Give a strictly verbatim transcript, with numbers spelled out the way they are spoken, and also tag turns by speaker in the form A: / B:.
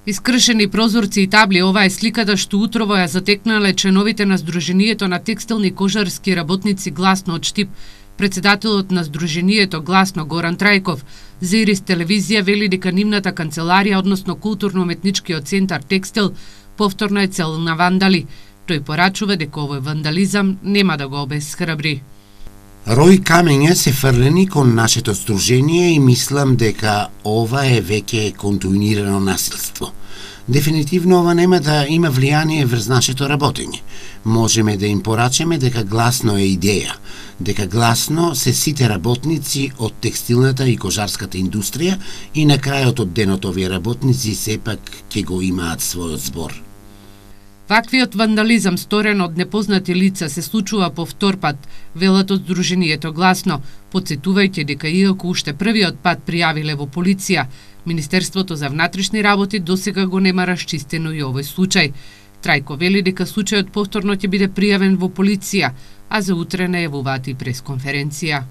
A: Искршени прозорци и табли, ова е сликата што утрово ја затекнале членовите на Сдруженијето на текстилни и кожарски работници Гласно од Штип. Председателот на Сдруженијето Гласно Горан Трајков за Ирис телевизија вели дека нивната канцеларија, односно културно-уметничкиот центар Текстил, повторно е цел на вандали. Тој порачува дека овој вандализам нема да го обесхрабри.
B: Рој камења се фрлени кон нашето сдружение и мислам дека ова е веќе континуирано насилство. Дефинитивно ова нема да има влијание врз нашето работење. Можеме да им порачеме дека Гласно е идеја, дека Гласно се сите работници од текстилната и кожарската индустрија и на крајот од денот овие работници сепак ќе го имаат својот збор.
A: Ваквиот вандализам сторен од непознати лица се случува по втор пат, велат од Сдруженијето Гласно, потсетувајќи дека иако уште првиот пат пријавиле во полиција, Министерството за внатрешни работи досега го нема расчистено и овој случај. Трајко вели дека случајот повторно ќе биде пријавен во полиција, а за утре најавуваат и пресконференција.